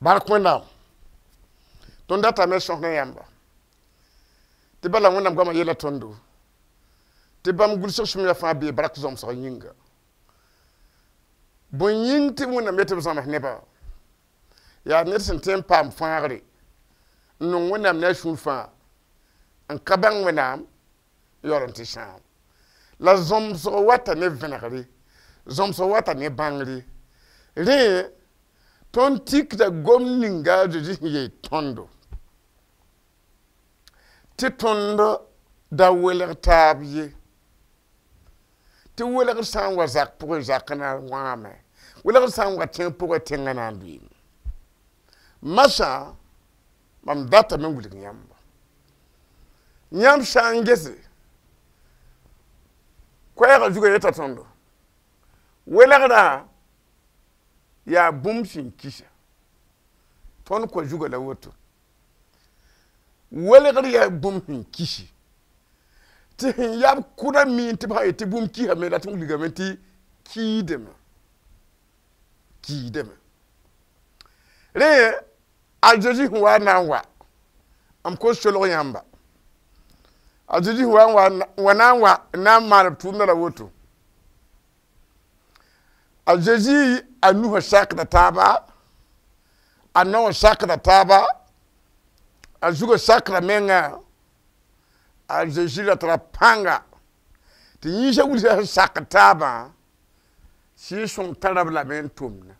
Bark Wẽnnaam tõnd datame sõs ne yãmba tɩ bala Wẽnnaam goamã yeela tõndo tɩ bãmb gʋlsg sũmyã fãa bee bark zãmsg yĩnga. Bõe yĩng tɩ Wẽnnaam yetɩ b zãms nebã yaa ned sẽn tõe n paam fãagre n nong Wẽnnaam ne a sũur fãa n ka bãng Wẽnnaam n yaool n tɩ sãam. La zãmsg wata ne vẽnegre, zãmsg wata ne bãngre. Rẽ tõnd tikda gom ninga a Zezi sẽn yeel tõndo tɩ tõnd da welg taab ye. Tɩ welgr sã n wa zak pʋgẽ, zakã na wãame. Welgr sã n wa tẽng pʋgẽ, tẽngã na n lʋɩɩme. Masã mam datame n wilg yãmba. Yãmb sã n gese koɛɛgã zugã yeta tõndo welgrã yaa bũmb sẽn kisa. Tõnd kõ zugã la woto. Welgr yaa bũmb sẽn kisi. Tɩ sẽn yab kʋda miin tɩ b sã yet tɩ bũmb kisame la tɩ wilgame tɩ kiidame. Kiidame. Rẽ a Zezi sẽn wa n na n wa m kos solg yãmba. A Zezi sẽn wa na n wa n na n maan b tʋʋmdã la woto. A Zezi a nusã sakda taaba, a naowã sakda taaba, a zugã sakda menga, a Zezi ra tara pãnga tɩ yĩnsã wilsã sẽn sak taabã sɩɩg-sõng tara b lame n tʋmda.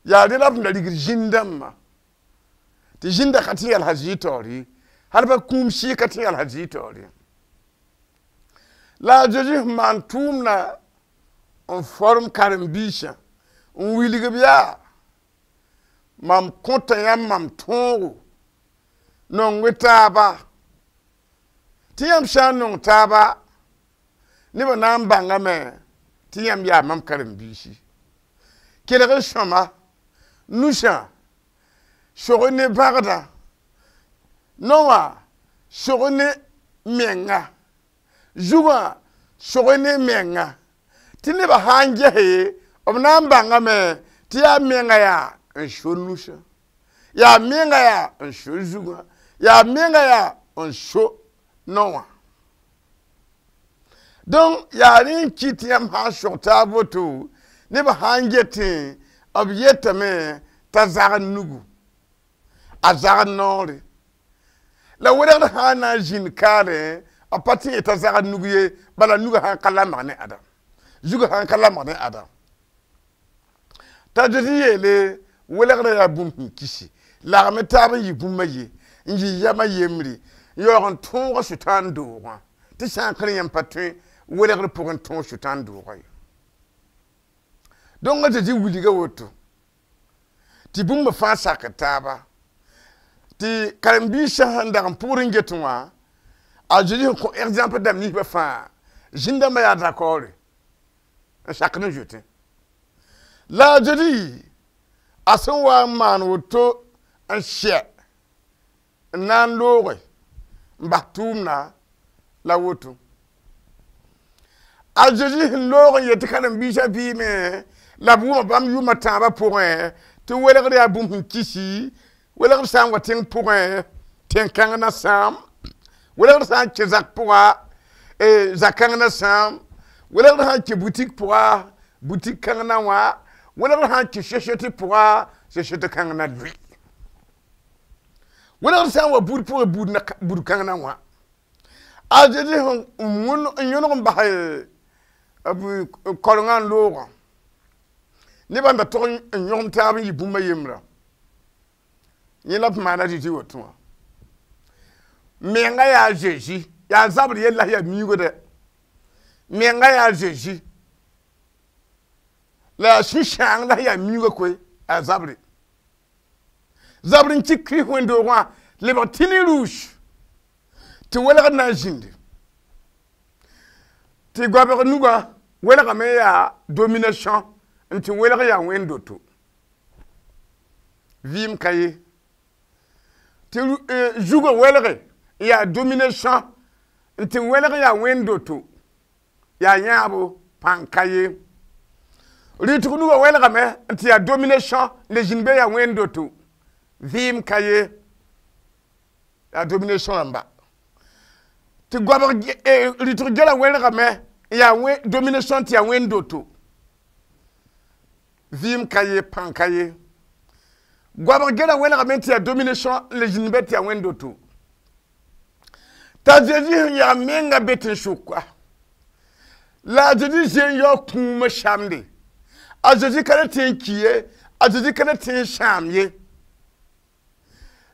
Yaa rẽ la b sẽn da rigd zĩn-dãmbã tɩ zĩnda ka tɩ yɛls a zɩɩ taoor ye, hal ba kũum sɩɩg ka tɩ yɛls a zɩɩ taoor ye. La a Zezi sẽn maan tʋʋmdã n form karen-biisã n wilg b yaa mam kõta yãmb mam tõogo nong taaba tɩ yãmb sã n nong taaba nebã na n bãngame tɩ yãmb yaa mam karen-biisi. Kelg n sõma nusã sog ne bãgdã, naowã sog ne menga, zugã sog ne menga. Tɩ nebã sã n gese b na n bãngame tɩ yaa menga yaa n so nusã, yaa menga yaa n so zugã, yaa menga yaa n so naowã. Donc yaa rẽ n kɩt tɩ yãmb sã n sog taab woto nebã sã n getẽ b yetame t'a zagd nugu, a zagd noore. La welgr sã n na n zĩnd kaarẽ b pa tɩ yetã zagd nug ye, bala nugã sã n ka lamg ne Adam, zugã sã n ka lamg ne Adam. T'a Zezi yeele welgrã yaa bũmb sẽn kisi, lagme taab n yɩ bũmb a ye, n yɩ yam a yembre, n yaoog n tõog sʋtãan doogã tɩ sã n kẽ yãmb pa tõe welgr pʋgẽ tõog sʋtãan doogã ye. Donc a Zezi wilga woto tɩ bũmb fãa sak taaba tɩ karen-biisã sẽn dag n pʋgd n get wã a Zezi sẽn kõ exemple dãmb ninsbã fãa zĩn-dãmbã yaa dakɔɔre n sakd n zoetẽ. La a Zezi a sẽn wa n maan woto n sɛ n na n looge n bas tʋʋmdã la woto. A Zezi sẽn loog n yet tɩ karen-biisã vɩɩme la b wʋma bãmb yʋʋmã tãabã pʋgẽ tɩ welgr yaa bũmb sẽn kisi, welgr sã n wa tẽng pʋgẽ tẽn-kãng na sãam, welgr sã n kẽ zak pʋga zak-kãng na sãam, welgr sã n kẽ butik pʋga butik kãng na wã, welgr sã n kẽ société pʋga société kãng na lʋɩ. Welgr sã n wa buud pʋgẽ buud kãng na wã. A Zezi sẽn n yõlg n bas b korengã n loogã nebã n da tog n yõgem taab n yɩ bũmb a yembrã. Yẽ la b maana Zezi woto wã. Menga yaa Zezi, yaa zabr yella yaa miuugã dɛ. Menga yaa Zezi la yaa sũ-sãang la yaa miuugã koe yaa zabre. Zabr n kɩ Kirist wẽnd-doogã lebg tɩ rouge tɩ welgr na n zĩndi. Tɩ goabg nugã welgame yaa domination n tɩ welg yaa wẽnd-doto. Vɩɩm ka ye. Tɩ zugã welge yaa domination n tɩ welg yaa wẽnd-doto yaa yãabo. Pãng ka ye. Rɩtg nugã wẽlgame n tɩ yaa domination le zĩnd be yaa wẽnd doto. Vɩɩm ka ye. Yaa domination rãmba. Tɩ goabg rɩtg gɛla wẽlgame n yaa domination tɩ yaa wẽnd doto. Vɩɩm ka ye, pãng ka ye. Goabg gɛla wẽlgame tɩ yaa domination le zĩnd be tɩ yaa wẽnd doto. T'a Zezi sẽn yaa menga be tẽn-sʋka. La a Zezi zoe n yao kũumã samde. A Zezi ka le tẽ n ki ye, a Zezi ka le tẽ n sãam ye.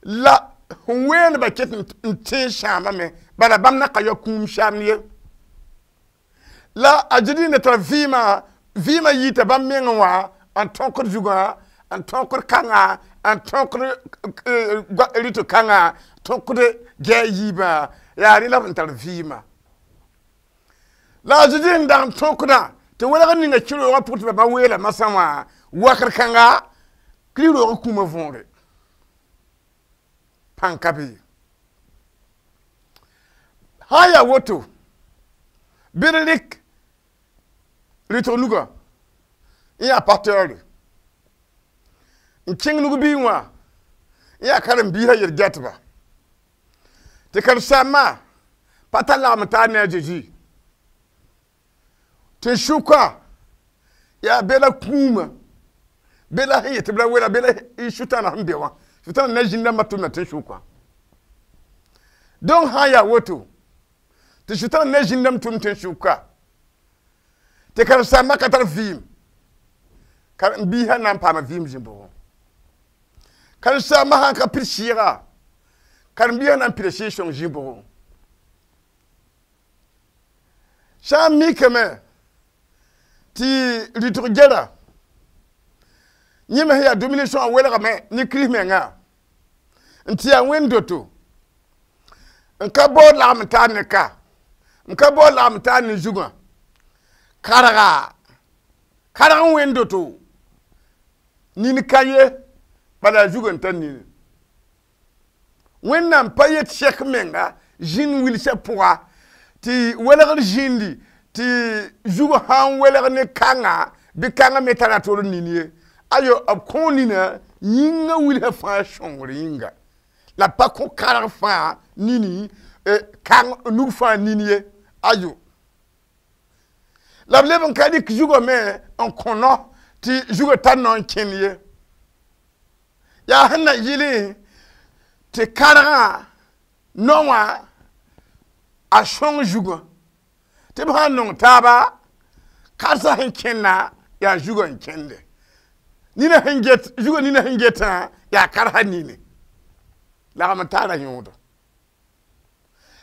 La sẽn weendbã ket n tẽ n sãamame, bala bãmb na ka yao kũum samd ye. La a Zezi n da tar vɩɩmã, vɩɩmã yita bãmb mengẽ wã n tõkd zugã, n tõkd kãnga, n tõkd rɩtg kãnga, tõkd gɛ a yiibã, yaa rẽ la b sẽn tar vɩɩmã. La a Zezi sẽn dag n tõkdã tɩ welg ninga kɩ-roogã pʋg tɩ bama weela masã wã wakr kãnga Kirist-roogã kũumã võore. Pãng ka be ye. Sã n yaa woto, bɩ d rɩk rɩtg nugã n yaa pasteure n kẽng nug-bii wã n yaa karen-biisã yel-gɛtba tɩ karen-saambã pa tar lagm n taa ne a Zezi tɩ sʋka yaa be la kũumã be la sẽn yet tɩ b ra wela be la sʋtãanã sẽn be wã sʋtãanã na zĩnd rãmbã tʋmda tẽn-sʋkã. Donc sã n yaa woto tɩ sʋtãanã na zĩnd rãmb tʋm tẽn-sʋka tɩ karen-saambã ka tar vɩɩm karen-biisã na n paama vɩɩm zĩ-bʋgẽ. Karen-saambã sã n ka pid sɩɩga karen-biisã na n pida sɩɩg sõng zĩ-bʋgẽ. Sã n mikame tɩ rɩtg gɛra yẽ me sẽn yaa domination wã welgame ne Kirist mengã n tɩ yaa wẽnd doto n ka baood lagm n taar ne ka n ka baood lagm n taar ne zugã karga karg n wẽnd doto nin ka ye bala a zugã n tar nini. Wẽnnaam pa yet sɛk menga zĩnd wilsã pʋga tɩ welgr zĩndi tɩ zug sã n welg ne kãnga bɩ kãngã me tara tor nin ye. Ayo b kõ nina yĩngã wilsã fãa sõngr yĩnga la pa kõ karg fãa nini kãng nug fãa nin ye. Ayo la b leb n ka rɩk zugã me n kõ no tɩ zugã tar nao n kẽnd ye. Yaa sẽn na yɩlẽ tɩ kargã nao wã a sõng zugã tɩ b sã n nong taaba karsã sẽn kẽnda yaa zugã n kẽnde. Nina sẽn get zugã nina sẽn getã yaa karsa nini lagm n taara yõodo.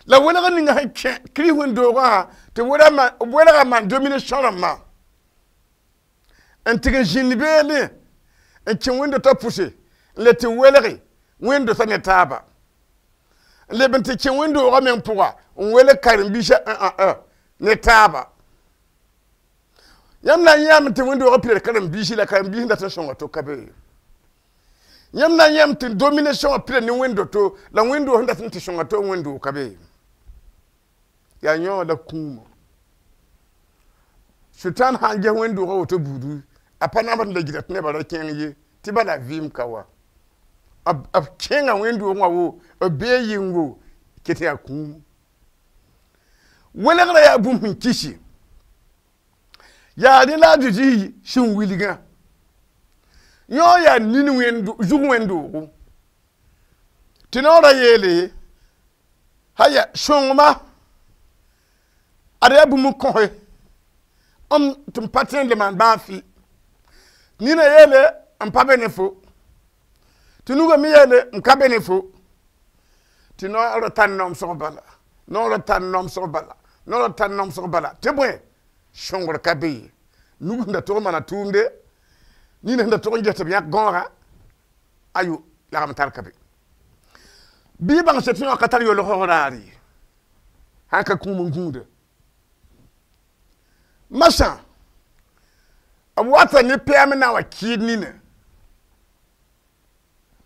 La welg ninga sẽn kẽ Kirist wẽn-doogã tɩ welga maan domination rãmbã n tɩg n zĩnd beelẽ n kẽ wẽnd-dotã pʋse n le tɩ welge wẽnd-dotã ne taaba n leb n tɩ kẽ wẽn-doogã meng pʋga n welg karen-biisã ne taaba. Yãmb na n yãame tɩ wẽn-doogã pida karen-biisi la karen-biis n dat n sõnga to ka be. Yãmb na n yãame tɩ domination wã pida ne wẽnd-doto la wẽnd-doog sẽn dat n tɩ sõnga to wẽnd-doog ka be. Yaa yõ la kũumã. Sʋtãan sã n ges wẽnd-doogã woto buudu a pa nabd n la gɩda tɩ nebã ra kẽng ye tɩ bala vɩɩm ka wa. B kẽnga wẽnd-doogẽ wã wo b bee yɩngo ket yaa kũum. Welgrã yaa bũmb sẽn kisi. Yaa rẽ la a Zezi sẽn wilgã. Yõ yaa nin zug wẽnd-doogo. Tɩ noorã yeele haya sõngma ad yaa bũmb n kõse n tɩ m pa tõe n le maan bãag fɩ. Nina yeele n pa be ne fo. Tɩ nugã me yeele n ka be ne fo. Tɩ noorã tar naomsg bala, noorã tar naomsg bala, noorã tar naomsg bala. Tɩ bõe sõngr ka be ye. Nug sẽn da tog n maana tʋʋmde, nina sẽn da tog n ges tɩ b yãk gãooga, ayo lagm tar ka be. Bɩ y bãng tɩ yõ ka tar yolg raar ye, sã n ka kũum n gũuda. Masã b wata ne pɛɛm n na n wa kɩɩd nina.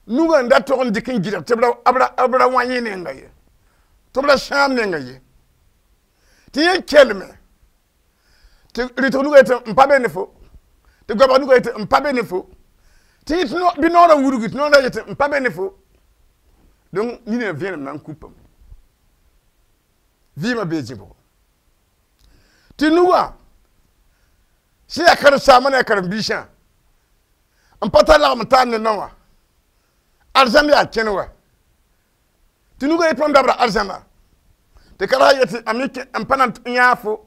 Nugã n da tog n dɩk n gɩdg tɩ b ra wã yẽ nenga ye, tɩ b ra sãam nenga ye. Tɩ yẽ kelme Tɩ rɩtg nugã yetɩ n pa be ne fo, tɩ goabg nugã yetɩ n pa be ne fo, tɩ yẽ bɩ noorã wudgi, tɩ noorã yetɩ n pa be ne fo. Donc nina vẽenem na n kupame. Vɩɩmã bee zĩ-bʋgo. Tɩ nugã sẽn yaa karen-saambã ne a karen-biisã n pa tar lagem n taar ne nao wã, arzãn yaa kẽne wa. Tɩ nugã yetɩ mam dabda arzãna, tɩ karga yetɩ a me n pa na n yãag fo.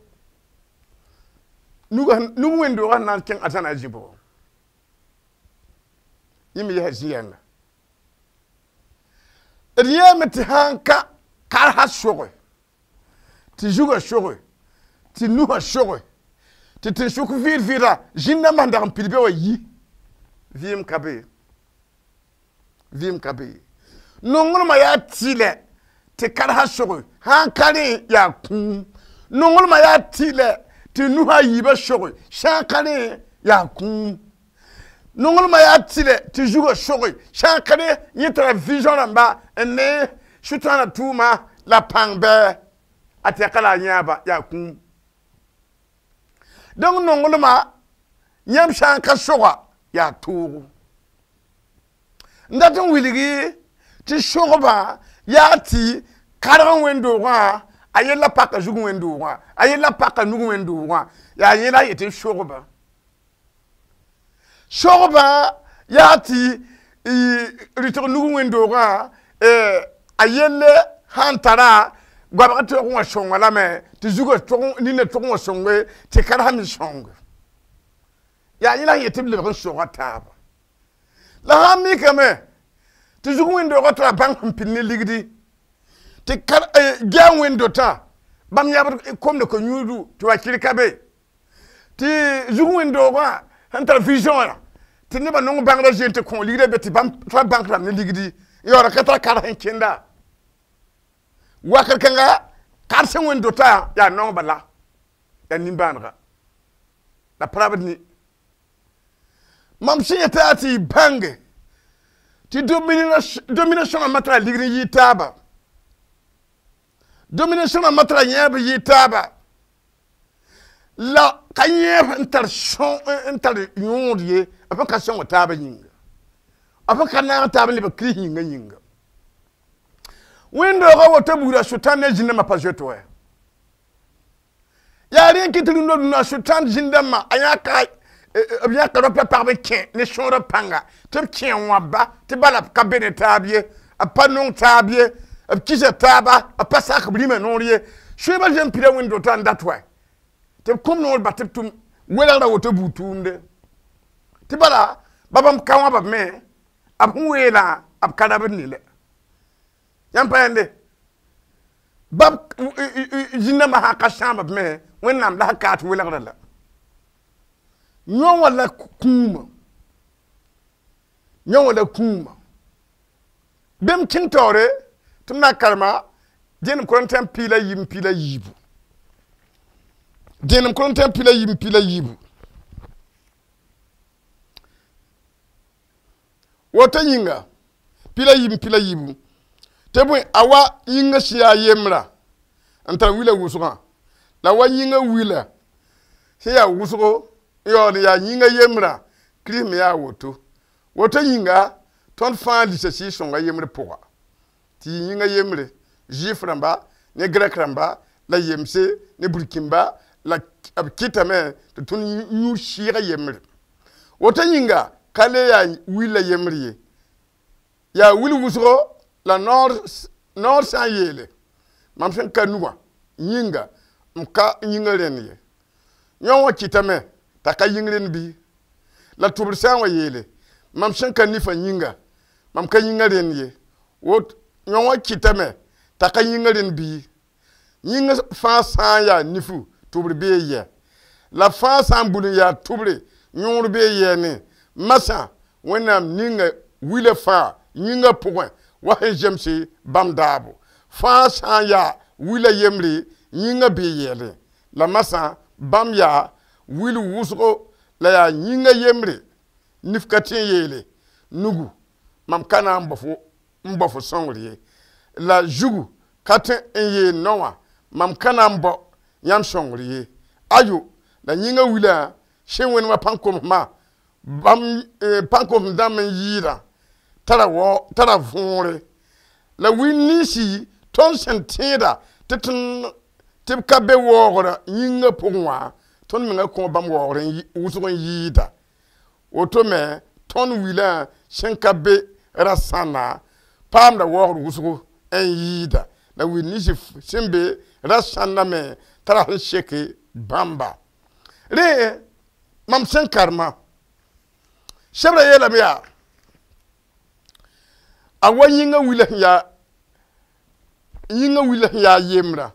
Nug wẽnd-doogã sẽn na n kẽng arzãna a zĩ-bʋgo. Yẽ me yɛsa zĩ-yɛnga. D yɛɛme tɩ sãn ka karsa soge, tɩ zugã soge, tɩ nusã soge, tɩ tẽn-sʋk vɩɩd-vɩɩda zĩn-dãmbã sẽn dag n pid be wã yi, vɩɩm ka be, vɩɩm ka be. Nonglmã yaa tɩlɛ tɩ karsa soge, sãn ka rẽ yaa kũum. Nonglmã yaa tɩlɛ tɩ nusã a yiibã soge, sã n ka rẽ yaa kũum. Nonglmã yaa tɩlɛ tɩ zugã soge, sã n ka rẽ yẽ tara vision rãmba n ne sʋtãanã tʋʋma la pãng bɩ a tɛka la a yãaba yaa kũum. Donc nonglmã yãmb sã n ka soga yaa toogo. N dat n wilgi tɩ sogbã yaa tɩ karg n wẽnd-doogã a yella paka zug wẽnd-doogã, a yella paka nug wẽnd-doogã, yaa yẽ la a yetɩ sogbã. Sogbã yaa tɩ rɩtg nug wẽnd-doogã a yelle sãn tara goabg tɩ wã sõnga lame, tɩ zugã nina tʋg wã sõnge, tɩ karsa me sõnge. Yaa yẽ la sẽn yet tɩ b lebg n soga taaba. La sãn mikame tɩ zug wẽnd-doogã tara bãng sẽn pid ne ligdi, tɩ gɛa wẽnd-dotã bãmb yãbd komd ko-yũudu tɩ wa kɩr ka be, tɩ zug wẽnd-doogã sẽn tar vision wã tɩ nebã nong bãngrã zoe tɩ kõ ligdã be tɩ bãmb tara bãnk rãmb ne ligdi n yaood ka tar kar sẽn kẽnda. Wakr kãnga kar sẽn wẽnd-dotã yaa naong bala, yaa nimbãanega la pa rabd ne. Mam sẽn yeta yaa tɩ y bãnge tɩ domination rãmbã tara ligd n yɩɩ taaba, domination rãmbã tara yẽeb n yɩɩ taaba, la ka yẽeb n tar n tar yõod ye, b sẽn ka sõng taabã yĩnga, b sẽn ka naag taab n lebg kirist yĩngã yĩnga. Wẽnd-doogã woto buudã sʋtãan ne zĩn-dãmbã pa zoet wɛ. Yaa rẽ n kɩt tɩ rũndã rũnã sʋtãan zĩn-dãmbã a yãka b yãka rapa pagb n kẽ ne sõorã pãnga tɩ b kẽ n wãbba, tɩ bala b ka be ne taab ye, b pa nong taab ye, b kisa taaba, b pa sak b rĩmã noor ye. Sõebã zoe n pida wẽnd-dotã n dat wɛ tɩ b kũm noor ba tɩ b tʋm welgrã woto buud tʋʋmde. Tɩ bala ba bãmb ka wãba b me, b sẽn weelã b ka rabd ne la. Yãmb pa yãnde bãmb zĩn-dãmbã sã n ka sãam b me, Wẽnnaam la sẽn kaat welgrã la. Yõ wã la kũumã, yõ wã la kũumã. Bẽmb kẽng taoore tɩ m na n karema dẽenem Korẽntɩyã 14 p. Dẽenem Korẽntɩyã 14 p. Woto yĩnga 14 p. Tɩ bõe a wa yĩngã sẽn yaa yembrã n tar wila wʋsgã, la wa yĩngã wila sẽn yaa wʋsgo n yaool n yaa yĩngã yembrã, Kirist me yaa woto. Woto yĩnga tõnd fãa lisa Sɩɩg-sõngã yembr pʋga tɩ yɩ yĩngã yembre, Zuif rãmba ne Grɛk rãmba la yemse ne burkĩmba, la b kɩtame tɩ tõnd yũ sɩɩgã yembre. Woto yĩnga ka le yaa willa yembr ye, yaa wil wʋsgo la noor sã n yeele mam sẽn ka nugã yĩnga m ka yĩngã rẽnd ye. Yõ wã kɩtame t'a ka yĩng rẽnd bɩ? La tʋbr sã n wa yeele mam sẽn ka nifã yĩnga mam ka yĩngã rẽnd ye. Wot yõ wã kɩtame t'a ka yĩngã rẽnd bɩ? Yĩngã fãa sã n yaa nifu tʋbr bee yɛ, la fãa sã n bul n yaa tʋbre yõor bee yɛɛne. Masã Wẽnnaam ninga wila fãa yĩngã pʋgẽ wa sẽn zemse bãmb daabo. Fãa sã n yaa wila yembre yĩngã bee yɛɛlẽ, la masã bãmb yaa wil wʋsgo la yaa yĩngã yembre. Nif ka tõe n yeele nugu mam ka na n bao fo sõngr ye, la zugu ka tõe n yeel nao wã mam ka na n bao yãmb sõngr ye. Ayo, La yĩngã wilã sẽn wẽnemã pãn-komsmã bãmb pãn-komsem dãmb n yɩɩdã tara võore la wil ninsi tõnd sẽn tẽeda tɩ tɩ b ka be waoogrã yĩngã pʋgẽ wã tõnd menga kõ bãmb waoogr wʋsg n yɩɩda woto me tõnd wilã sẽn ka be ra-sãnna paamda waoogr wʋsgo n yɩɩda la wil ninsi sẽn be ra-sãnna me tara sẽn seke bãmba rẽ mam sẽn karema sebra yeelame yaa a wa yĩngã wila sẽn yaa yĩngã wila sẽn yaa yembrã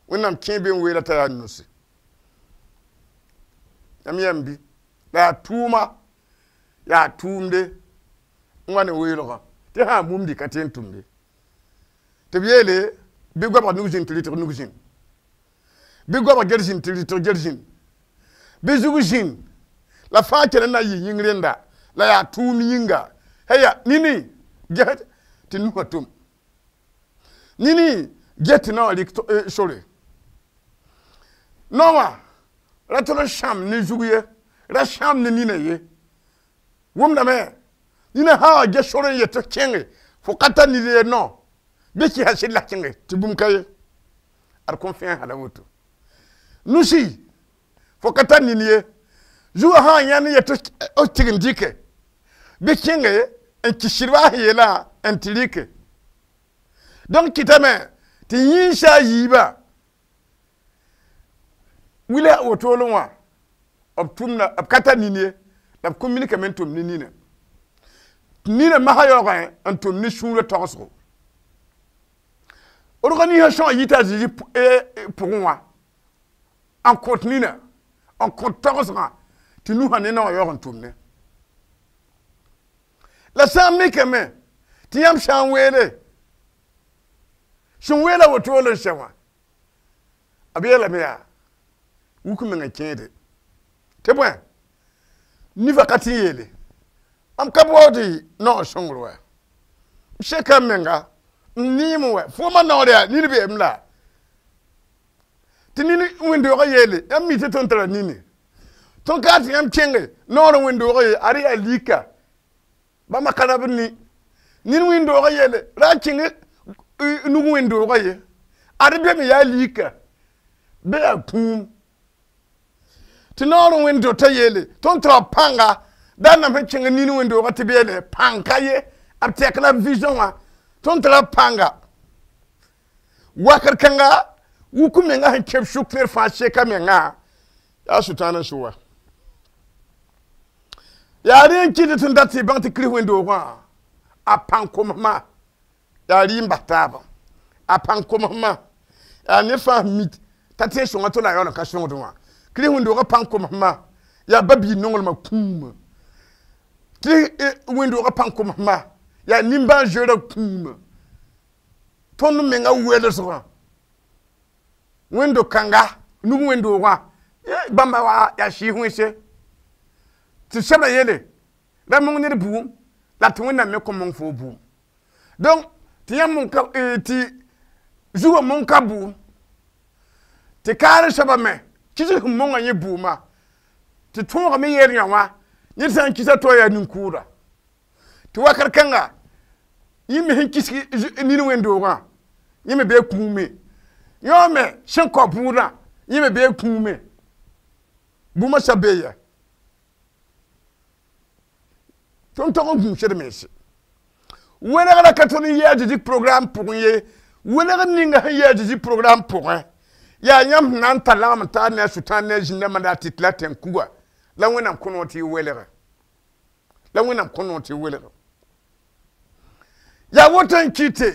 wẽnnaam kẽe be n weela t'a yaa nusi yãmb yãmb bɩ la yaa tʋʋma yaa tʋʋmde n wa ne weelgã tɩ sã n mumdi ka tɩ n tʋmde tɩ b yeele bɩ goabg nug zĩnd tɩ rɩtg nug zĩnd bɩ goabg ger zĩnd tɩ rɩtg ger zĩnd bɩ zug zĩnd la fãa kell n na n yɩ yĩng rẽnda la yaa tʋʋm yĩnga haya nini ges tɩ nusã tʋm nini ges tɩ naowã rɩk sore naowã ra tol n sãam ne zug ye ra sãam ne nina ye wʋmdame nina sã wa ges sor n yet tɩ kẽnge fo ka tar nid ye nao bɩ kɩsa sɩd la kẽnge tɩ bũmb ka ye ad kõn fẽes hala woto nusi fo ka tar nin ye zugã sã n yãnd n yet tɩ tɩg n dɩke bɩ kẽnge n kɩ sɩdba sẽn yeelã n tɩ rɩke donc kɩtame tɩ yĩnsa a yiibã wila wotolẽ wã b tʋmda b ka tar nin ye la b kõ minikame n tʋm ne nina nina masã yaoogẽ n tʋm ne sũurã tagsgo rog ninsã sõa yita a Zezi pʋgẽ wã n kõt nina n kõt tagsgã tɩ nusã ne naowã yaoog n tʋmne la sã n mikame tɩ yãmb sã n weele sẽn weela wotolo n sɛ wã b yeelame yaa wuk meng n kẽede tɩ bõe nifã ka tɩ n yeele mam ka baood naoor sõngr wɛ m seka m menga n neem wɛ foomã naoor yaa nini beem la tɩ nini wẽnd-doogã yeele yãmb mi tɩ tõnd tara nini tõnd ka tɩ yãmb kẽnge naoor n wẽnd-doogã ye ad yaa lika bãmba ka rab ni nini wẽnd-doogã yeele ra a kẽng nug wẽnd-doogã ye ad be me yaa lika bɩ yaa kũum tɩ naoor n wẽnd-dotã yeele tõnd tara pãnga da nam sẽn kẽng nini wẽnd-doogã tɩ b yeele pãng ka ye b tɛk la vision wã tõnd tara pãnga wakr kãnga wuk menga sẽn kẽb sʋk ned fãa seka mengã yaa sʋtãan n sʋ wa yaa rẽ n kɩt tɩ n dat tɩ bãng tɩ kirist wẽnd-doogã a pãng komsmã yaa rɩ n bas taabã a pãng komsmã yaa ned fãa sẽn mi t'a tẽeg sõnga to la a yaool n ka sõngd wã kirist wẽnd-doogã pãng komsmã yaa ba-biig nonglmã kũumã tɩ wẽnd-doogã pãng komsmã yaa nimbãan-zoeerã kũumã tõnd menga welsgã wẽnd-do-kãnga nug wẽnd-doogã bãmba wa yaa sɩɩs wẽnse tɩ sebra yeele ra mong ned bʋʋm la tɩ wẽnnaam me kõ mong fo bʋʋm donc tɩ yãmb mong ka tɩ zugã mong ka bʋʋm tɩ kaar soabã me kisg sẽn mongã yẽ bʋʋma tɩ tõogame yeel yã wã ned sã n kisa to yaa nin-kʋʋda tɩ wakr kãnga yẽ me sẽn kisg nin wẽnd-doogã yẽ me bee kũume yõ me sẽn kao bʋʋdã yẽ me bee kũume bũmã sa bee ya tõnd tog n gũusd mense wẽnegrã ka tõnd n yɩ a Zezi programme pʋgẽ ye wẽnegr ninga sẽn yɩ a Zezi programme pʋgẽ yaa yãmb sẽn na n tar lagm n taar ne a sʋtãan ne a zĩndãmbã la a tɩt la tẽn-kuga la wẽnnaam kõ noor tɩ y welge la wẽnnaam kõ noor tɩ y welge yaa woto n kɩte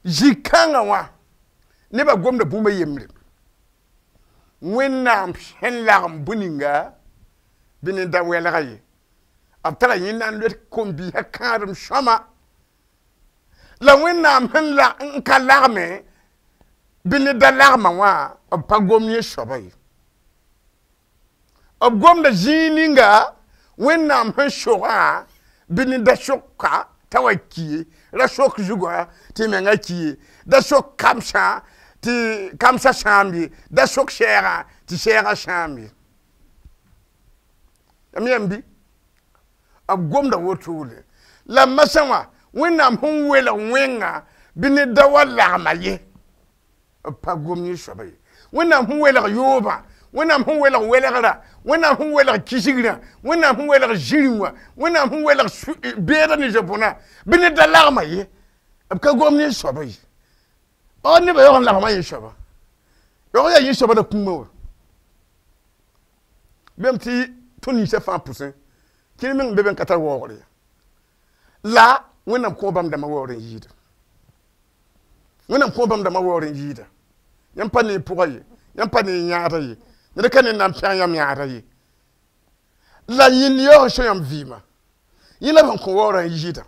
zĩ-kãngã wã nebã gomda bũmb yembre wẽnnaam sẽn lagem bũ-ninga bɩ ne da wɛlga ye b tara yẽnda n loet kom-biisã kãadem sõma la wẽnnaam sẽn n ka lagme bɩ ne da lagmã wã b pa gom yẽ soaba ye b gomda zĩig ninga wẽnnaam sẽn sogã bɩ ne da soka t'a wa ki ye ra sok zugã tɩ menga ki ye da sok kamsã tɩ kamsã sãamb ye da sok sɛɛgã Tɩ sɛɛgã sãam ye. Yãmb yãmb bɩ b gomda wotole. La masã wã Wẽnnaam sẽn welg wẽnga bɩ ne da wa lagma ye. B pa gom yẽ soaba ye. Wẽnnaam sẽn welg yoobã, Wẽnnaam sẽn welg welgrã, Wẽnnaam sẽn welg kisigrã, Wẽnnaam sẽn welg zĩri wã, Wẽnnaam sẽn welg beedã ne zob-bõna bɩ ne da lagma ye. B ka gom yẽ soaba ye. Or nebã yaoog n lagma yẽ soaba. Yaoog yaa yẽ soaba la kũumã wã. Bẽmb tɩ tõnd ninsã fãa pʋsẽ kẽer meng n be be n ka tar waoogr ye. La Wẽnnaam kõo bãmb dãmbã waoor n yɩɩda. Wẽnnaam kõo bãmb dãmbã waoor n yɩɩda. Yãmb pa ne y pʋga ye, yãmb pa ne y yãadã ye, ned ka ne n na n pẽg yãmb yãadã ye. La yẽnd yaoog n so yãmb vɩɩmã. Yẽ la b sẽn kõ waoorã n yɩɩda.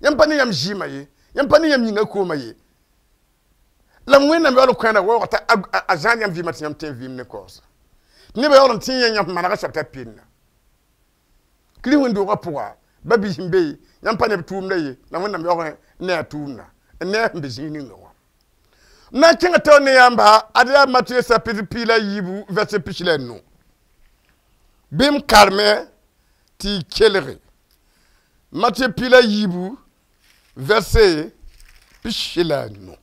Yãmb pa ne yãmb zɩɩmã ye, yãmb pa ne yãmb yĩngã koomã ye. La Wẽnnaam yaool n kõ waoog t'a a zãad yãmb vɩɩmã tɩ yãmb tẽ vɩɩm ne kaoosa. Nebã yaool n tẽ yã yãmb manega soab t'a penna. Kirist wẽn-doogã pʋga, ba biis n be, yãmb pa ne b tʋʋmdã ye, la Wẽnnaam yaoog n ne a tʋʋmdã, n ne a sẽn be zĩig ninga wã. N na n kẽngã taoor ne yãmba, ad yaa Matɩyã chapitre 15 verset 45. Bɩ m karme tɩ y kelge. Matɩyã 14 verset 15.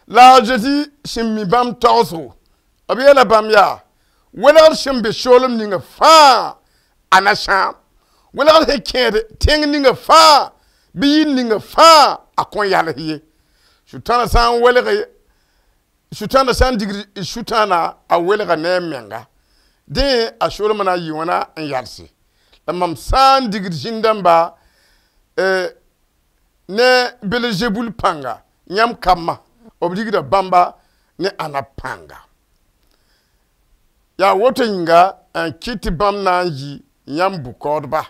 La a Zezi sẽn mi bãmb tagsgo, b yeela bãmb yaa, welgr sẽn be soolem ninga fãa a na sãam. Welgr sẽn kẽed tẽng ninga fãa bɩ yir ninga fãa a kõn yals ye. Sʋtãana sã n welge, sʋtãana sã n digd sʋtãana a welga ne a menga. Dẽ a soolmã na n yɩ wãna n yalse. La mam sã n digd zĩn-dãmba ne Belzebul pãnga yãmb kambã, b rigda bãmba ne ãnna pãnga. Yaa woto yĩnga n kɩt tɩ bãmb na n yɩ yãmb bʋ-kaoodba.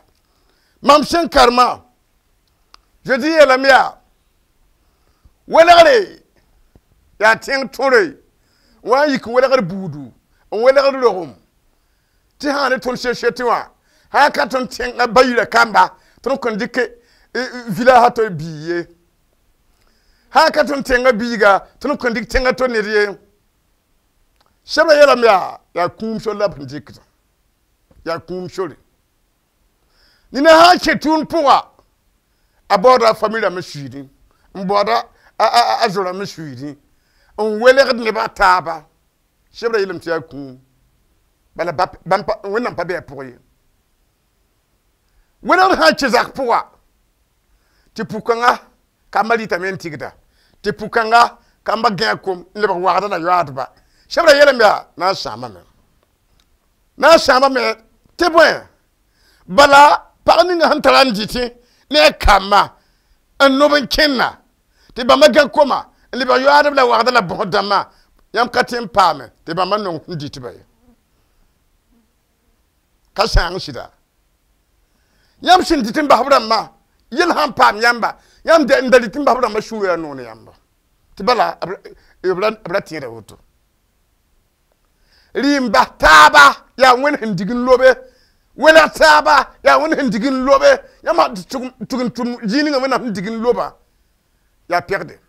Mam sẽn karema, Zezi yeelame yaa, welgre yaa tẽng tõre n wa n yik n welgr buudu, n welgr rogem, tɩ sã ne tõnd société wã, sã n ka tõnd tẽngã bayirã kamba, tõnd kõn dɩk village a to bii ye. Sã n ka tõnd tẽngã biiga, tõnd kõn dɩk tẽngã to ned ye. Sebra yeelame yaa, yaa kũum sor la b sẽn dɩkdã. Yaa kũum sore. Nina sã n kẽ tʋʋm pʋga, a baooda a famille rãmb suiidẽ, n baooda a zo rãmb suiidẽ, n welgd nebã taaba. Sebra yeelame tɩ yaa kũum. Bala Wẽnnaam pa be a pʋgẽ ye. Welgd sã n kẽ zak pʋga, tɩ pʋ-kãngã kambã rɩtame n tɩgda, tɩ pʋ-kãngã kambã gã a kom n lebg wagda la yoaadba. Sebra yeelame yaa na n sãamame. Na n sãamame tɩ bõe? Bala pag ninga sẽn tara n dɩtẽ ne a kambã n nob n kẽnna tɩ bãmba gã koma n lebg yoaadb la wagda la bõsd dãmbã, yãmb ka tẽ n paame tɩ bãmba nong sẽn dɩtba ye. Ka sãang sɩda. Yãmb sẽn dɩt n bas b rãmbã, yel sã n paam yãmba, yãmb n da dɩt n bas b rãmbã sũurã yaa noog ne yãmba. Tɩ bala b ra tẽeda woto. Rɩ n bas taaba yaa Wẽnd sẽn dig n lobe. Welg taaba yaa Wẽnd sẽn dig n lobe. Yãmb tʋg n tʋm zĩig ninga Wẽnnaam sẽn dig n loba yaa pɛgde.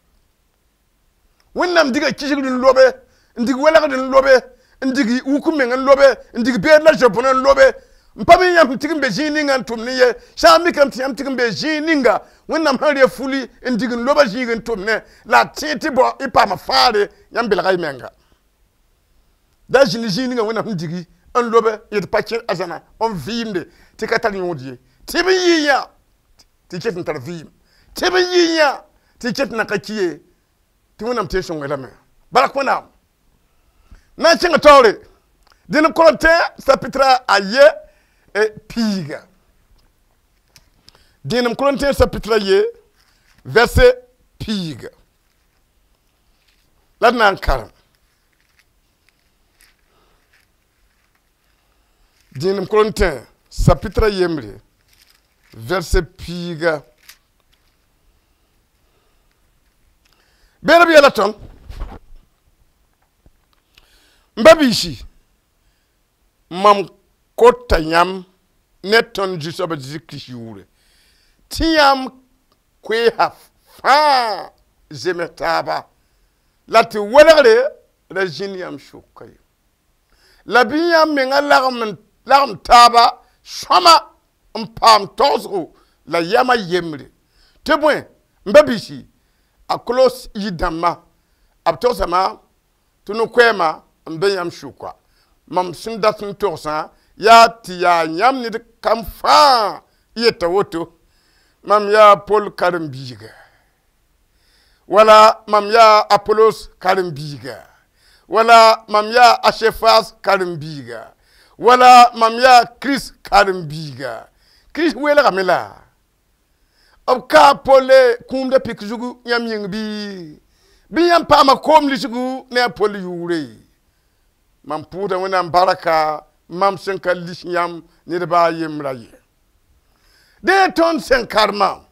Wẽnnaam diga kisgr n lobe, n dig welgd n lobe, n dig wuk meng n lobe, n dig beed la zob-bõn n lobe. N pa mi yãmb sẽn tɩg n be zĩig ninga n tʋm ne ye. Sã n mikame tɩ yãmb tɩg n be zĩig ninga Wẽnnaam sẽn re fuli n dig n loba zĩig n tʋm ne, la a tẽed tɩ bao y paama fãagre yãmb belga y menga. Da zĩnd zĩig ninga Wẽnnaam sẽn digi n lobe yet pa kẽ a zãna n vɩɩmde tɩ ka tar yõod ye. Tɩ b yɩ yã tɩ ket n tar vɩɩm. Tɩ b yɩ yã tɩ ket n na ka ki ye. Tɩ Wẽnnaam tɩ sõnge lame. Barak Wẽnnaam. Na n kẽngã taoore. Dẽnd Korintẽ chapitre a ye piiga. Dẽenem Korintẽ chapitre a ye verset piiga. La d na n karem. Dẽenem Korintẽ chapitre a yembre verset piiga. Beed b yeela tõnd. M ba biisi, mam kota yãmb ne tõnd Zu-soab Zezi Kirist yʋʋre tɩ yãmb koeesa fãa zems taaba La tɩ welgre ra zĩnd yãmb sʋka ye. La bɩ yãmb menga lagem taaba sõma n paam togsgo la yama yembre. Tɩ bõe n ba biisi a kolos yir-dãmbã b togsame tɩ no-koɛɛmã n be yãmb sʋka. Mam sẽn dat n togsã yaa tɩ yaa yãmb ned kam fãa yeta woto. Mam yaa Pol karen-biiga. Wala mam yaa Apolos karen-biiga. Wala mam yaa Asefas karen-biiga. Wala mam yaa Kirist karen-biiga. Kirist weelgame la. B ka Pol kũumda pik zugu yãmb yĩng bɩ? Bɩ yãmb paama koom lisgu ne a Pol yʋʋre. Mam pʋʋsda Wẽnnaam barka mam sẽn ka lis yãmb ned baa yembra ye. Dẽ tõnd sẽn karema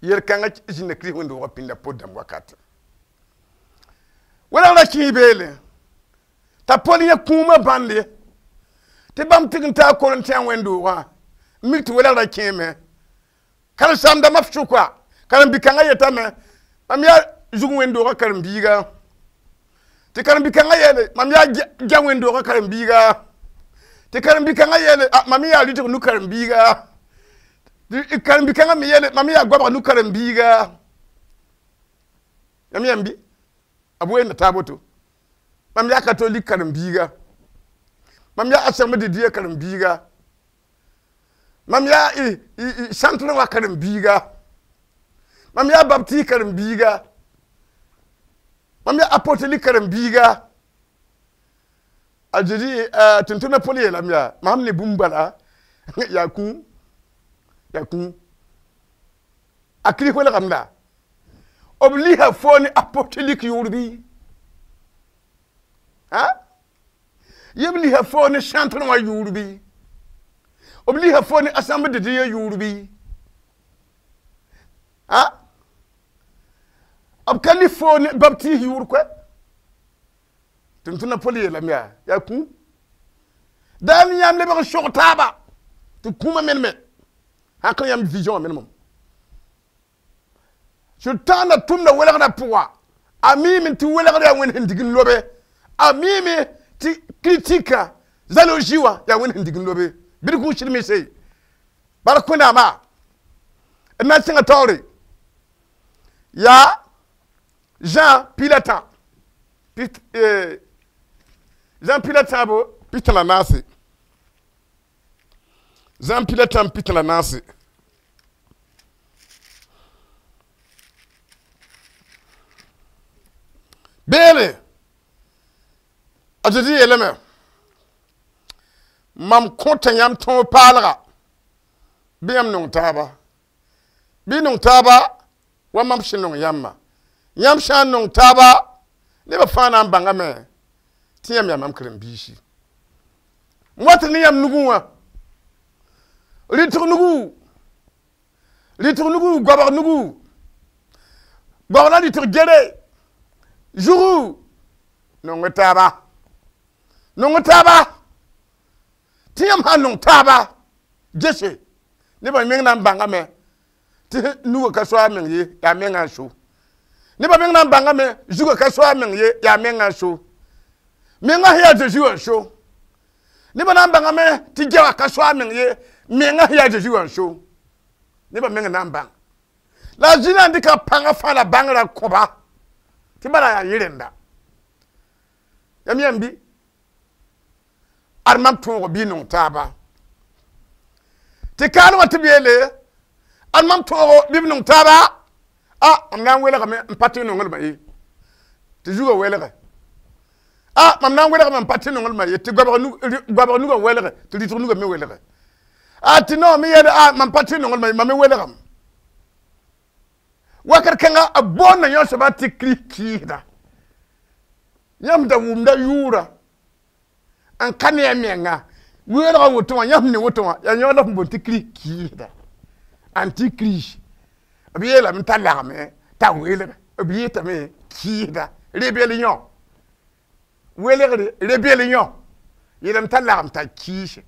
yel-kãngã zĩnda Kirist wẽnd-doogã pĩnda pot dãmb wakat. Welgra kẽe beele t'a Pol yẽ kũumã bãnd ye tɩ bãmb tɩg n taa Korintẽ wẽnd-doogã n mik tɩ welgrã kẽeme. Karen-saam-dãmbã f sʋka karen-bi-kãngã yetame mam yaa zug wẽnd-doogã karen-biiga. Tɩ karen-bi-kãngã yeele mam yaa gã wẽnd-doogã karen-biiga. Tɩ karen-bi-kãngã yeele mam yaa rɩtg nu karen-biiga. Tɩ karen-bi-kãngã me yeele mam yaa goabg nu karen-biiga. Yãmb yãmb bɩ b weenda taab woto. Mam yaa katolik karen-biiga. Mam yaa Assemblée de Dieu karen-biiga. Mam yaa centre wã karen-biiga. Mam yaa baptiste karen-biiga. Mam yaa apostolique karen-biiga. A Zezi tʋm-tʋmdã Pol yeelame yaa mam ne bũmb bala yaa kũum yaa kũum. A Kirist welgame la. B lisa fo ne apostolique yʋʋr bɩ? Yẽ b lisa fo ne centre wã yʋʋr bɩ? B lisa fo ne Assemblée de Dieu yʋʋr bɩ? B ka lis fo ne baptiste yʋʋr koɛ. Tʋm-tʋmdã Pol yeelame yaa yaa kũum. Daa ne yãmb lebg n sog taaba tɩ kũumã meneme. Sãn ka yãmb vision wã menemem. Sʋtãanã tʋmda welgrã pʋga a miime tɩ welgr yaa Wẽnd sẽn dig n lobe. A miime tɩ critique jalousie wã yaa Wẽnd sẽn dig n lobe. Bɩ d kũus sɩd bara kõ-naama d na n sẽnga taoore yaa Jean Pilatã Jean Pilatãabo pita la naase. Jean Pilatã pita la naase. Beele a Zezi yeelame mam kõta yãmb tõog paalga bɩ yãmb nong taaba. Bɩ nong taaba wa mam sẽn nong yãmbã. Yãmb sã n nong taaba nebã fãa na n bãngame tɩ yãmb yaa mam karen-biisi. M wat ne yãmb nugẽ wã rɩtg nugu rɩtg nugu goabg nugu goabg la rɩtg gere zugu nong taaba nong taaba tɩ yãmb sã n nong taaba gese nebã meng na n bãngame tɩ nugã ka so a meng ye yaa mengã n so. Nebã meng na n bãngame zugã ka so a meng ye yaa mengã n so. Mengã sẽn yaa Zeezi wã n so. Nebã na n bãngame tɩ gɛwã ka so a meng ye mengã sẽn yaa Zeezi wã n so. Nebã meng na n bãng. La a zĩnã n dɩka pãngã fãa la bãngrã kõba tɩ bala yaa yẽ rẽnda. Yãmb yãmb bɩ ad mam tõog bɩ nong taaba. Tɩ kaal wã tɩ b yeele ad mam tõog bɩ b nong taaba a mam na n welgame n pa tɩ nonglmã ye tɩ zugã welge. A mam na n welgame n pa tɩ nonglmã ye tɩ goabg nugã welge tɩ rɩtg nugã me welge. A tɩ no me yeele a mam pa tɩ nonglmã ye mam me welgame. Wakat kãnga b boonda yõ soaba tɩ Kirist kɩɩsda. Yãmb da wʋmda yʋʋra n ka ne a menga weelgã woto wã yãmb ne woto wã yaa yõ la f boond tɩ Kirist kɩɩsda antichrist. B yeelame t'a lagme t'a welg b yetame kɩɩsda rébellion welgre rébellion yeelame t'a lagm t'a kɩɩse.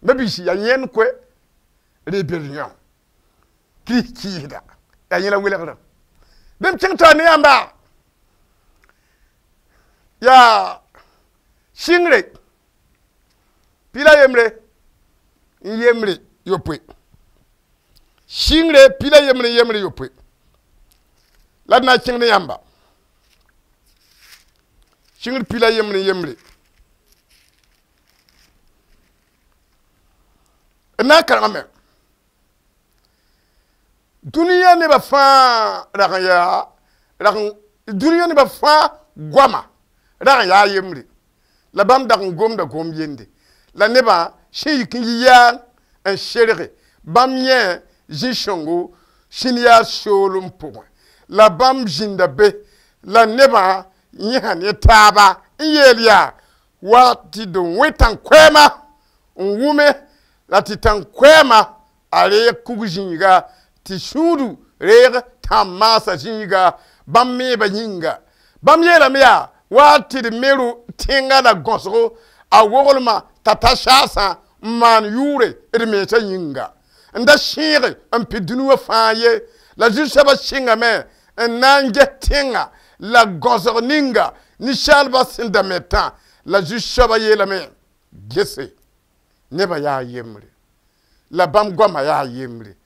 Ma-biisi yaa yẽnd koe rébellion Kirist kɩɩsda yaa yẽla welgrã. Bɩ m kẽng taoor ne yãmba yaa sɩngre pila yembre n yembre yopoe sɩngre pila yembre n yembre yopoe la d na n kẽng ne yãmba sɩngr pila yembre n yembre d na n karengame dũniyã nebã fãa rag n yaa rag n dũniyã nebã fãa goama rag n yaa yembre la bãmb dag n gomda gom yende la nebã sẽn yik n yi yaang n serge bãmb yẽ zĩ-sõngo sĩn yaa soolem pʋgẽ la bãmb zĩnda be la nebã yẽsa ne taaba n yeel yaa wa tɩ d wẽ tãn-koɛɛma n wʋme la tɩ tãn-koɛɛma a reeg kug zĩiga tɩ sũudu reeg tãn-maasã zĩiga bãmb meebã yĩnga bãmb yeelame yaa wa tɩ d me tẽngã la gõsgo a woglmã t'a ta saasã n maan yʋʋre d mensã yĩnga n da sẽege n pid dũni wã fãa ye la zu-soabã sɩngame n na n ges tẽngã la gõsg ninga ninsaalbã sẽn da metã la zu-soabã yeelame gese nebã yaa yembre la bãmb goamã yaa yembre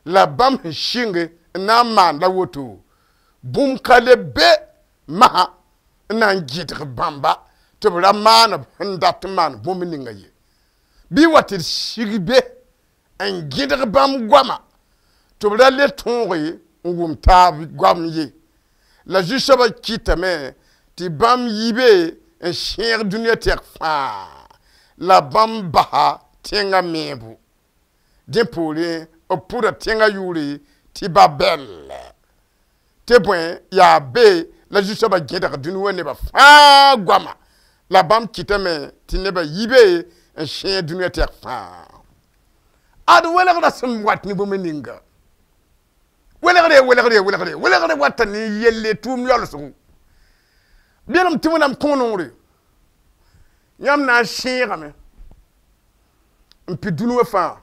la bãmb sẽn sɩnge n na n maan la woto bũmb ka le be masã n na n gɩdg bãmba tɩ b ra maan b sẽn dat n maan bũmb ninga ye bɩ wa tɩ d sig be n gɩdg bãmb goama tɩ b ra le tõoge n wʋm taab goam ye la zu-soabã kɩtame tɩ bãmb yi be n sẽeg dũniyã tɛk fãa la bãmb basa tẽngã meebo dẽ poorẽ b pʋda tẽngã yʋʋre tɩ Babɛl tɩ bõe yaa be la zu-soabã gẽdg dũni wã nebã fãa goama la bãmb kɩtame tɩ nebã yi be n sẽeg dũniyã tɛk fãa ad welgrã sẽn wat ne bũmb ninga welgre welgre welgre welgre wata ne yelle tʋʋm yaoolsgo belem tɩ Wẽnnaam kõ noore yãmb na n sẽegame n pid dũni wã fãa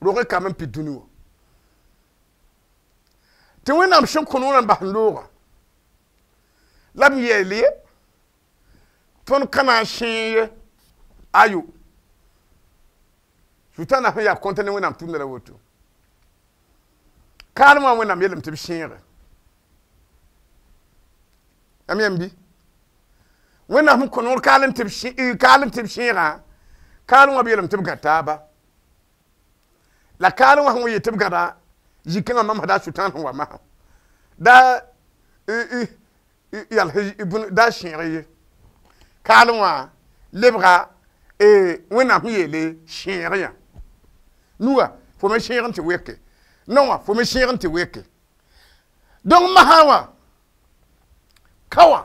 rog n kam n pid dũni wã tɩ Wẽnnaam sẽn kõ noorã n bas n loogã la b yeel ye tõnd ka na n sẽeg ye ayo sʋtãanã sẽn yaa kõta ne Wẽnnaam tʋmda la woto kaalem wã Wẽnnaam yeelame tɩ b sẽege yãmb yãmb bɩ Wẽnnaam sẽn kõ noor kaal n tɩ b sẽegã kaalem wã b yeelame tɩ b gã taaba la kaalem wã sẽn wa yet tɩ b gãda zĩ-kãngã mamsda a sʋtãan sẽn wa masã da yals da sẽeg ye kaalem wã lebga Wẽnnaam sẽn yeele sẽeg yã nuga fo me sẽeg n tɩ weke nao wã fo me sẽeg n tɩ weke donc masã wã ka wã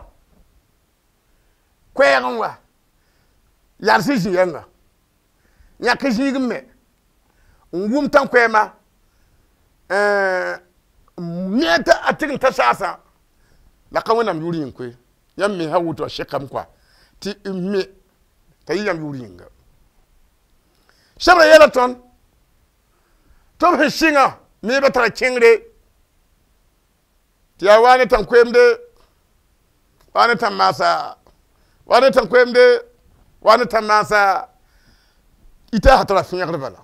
koɛɛg n wa yals zĩ yɛnga yãk zĩig n me n wʋm tãn-koɛɛma me a tɩg n ta saasã la ka Wẽnnaam yʋʋr yĩng koe yãmb mensã woto a sɛkame koa tɩ me t'a yɩ yãmb yʋʋr yĩnga sebra yeela tõnd tɩ b sẽn sɩngã meebã tara kẽngre tɩ yaa wa ne tãn-koeemde wa ne tãn-maasa wa ne tãn-koeemde wa ne tãn-maasa ita sã tara fẽegr bala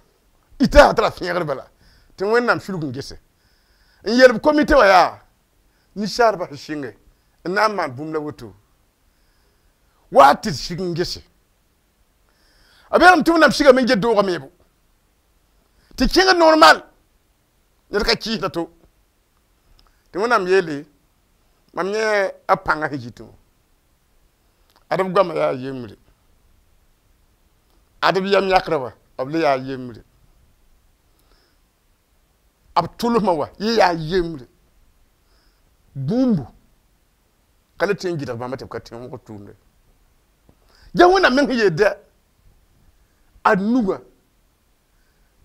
ita sã tara fẽegr bala tɩ Wẽnnaam sulg n gese n yeel b komite wã yaa ninsaalbã sẽn sɩnge n na n maan bũmb la woto wa tɩ d sig n gese a beelame tɩ Wẽnnaam sigame n get doogã meebo tɩ kẽngd normal ned ka kɩɩsda to tɩ Wẽnnaam yeele mam yẽ a pãngã sẽn yitẽ wã ad b goamã yaa yembre ad b yam yãkrã wã b le yaa yembre b tʋlsmã wã yẽ yaa yembre bũmbu ka le tõe n gɩdg bãmba tɩ b ka tõe n wʋgd tʋʋmde ya Wẽnnaam meng sẽn yeel dɛ a nugã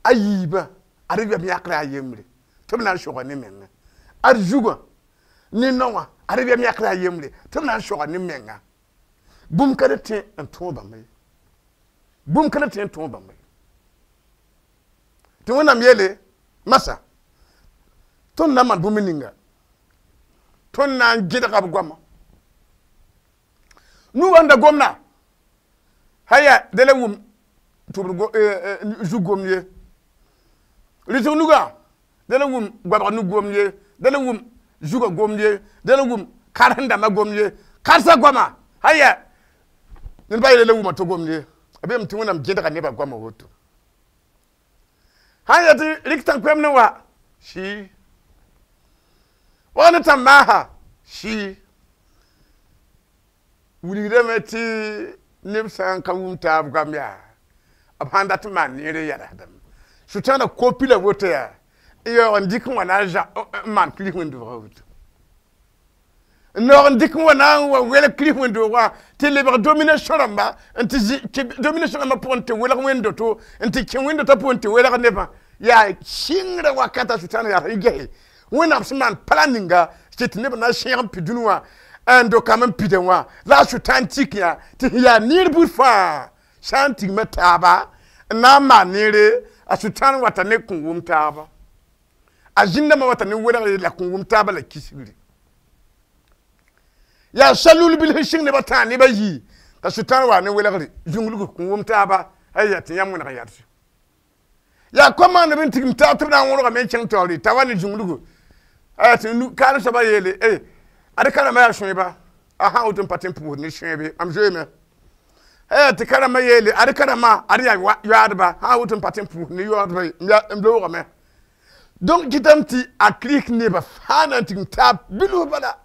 a yiibã ad b yam yãkrã yaa yembre tɩ b na n soga ne menga ad zugã ne naowã ad b yam yãkrã yaa yembre tɩ b na n soga ne menga bũmb ka le tõe n tõog bãmba ye bũmb ka le tõe n tõog bãmba ye tɩ Wẽnnaam yeele masa tõnd na n maan bũmb ninga Tõnd na n gẽdga b goamã nu wãnda gomna haya de la wʋm tɩ b zug gomd ye rɩtg nugã de la wʋm goabg nug gomd ye de la wʋm zugã gomd ye de la wʋm karen-dãmbã gomd ye karsa goama haya ned ba yeela la wʋma tɩ gomd ye a beeme tɩ Wẽnnaam gẽdga nebã goamã woto sãn ya tɩ rɩk tãn-koɛmd n wa sɩ wa ne tãn-maasa sɩ wilgdame tɩ neb sã n ka wʋm taab goam yaa b sãn dat n maan neere yɛlsdame Sʋtãanã kopi la woto yaa n yaoog n dɩk n wa na n maan Kirist wẽnd-doogã woto n naoog n dɩk n wa na n wa welg Kirist wẽnd-doogã tɩ lebg domination rãmba n tɩ domination rãmbã pʋgẽ tɩ welg wẽnd-doto n tɩ kẽ wẽnd-dotã pʋgẽ tɩ welg nebã yaa sɩngrã wakata Sʋtãanã yaa sẽn gese Wẽnnaam sẽn maan pala ninga tɩ neb na n sẽeg n pid dũni wã n do-kamb n pidã wã la a Sʋtãan tik yã tɩ sẽn yaa neer buud fãa sã n tigma taaba n na n maan neere a Sʋtãan wata ne kõn wʋm taaba a zĩndãmbã wata ne welgre la kõn wʋm taaba la kisgre yaa salul bil sẽn sɩng nebã tãag nebã yii t'a Sʋtãan wa ne welgre zũnglg kõn wʋm taaba aya tɩ yãmb wẽneg yɛls yaa kom maand b n tigim taab tɩ b na n wõrgame n kẽng taoore t'a wa ne zũnglgo aya tɩ kaal soabã yeele ad karembã yaa sõeba a sã woto n pa tɩ n pʋʋsd ne sõeebe mam zoeeme tɩ karembã yeele ad karembã ad yaa yoaadba sã woto n pa tɩ n pʋʋsd ne yoaadba n loogame donc kɩtame tɩ a Kirist nebã fãa na n tigim taab bilf bala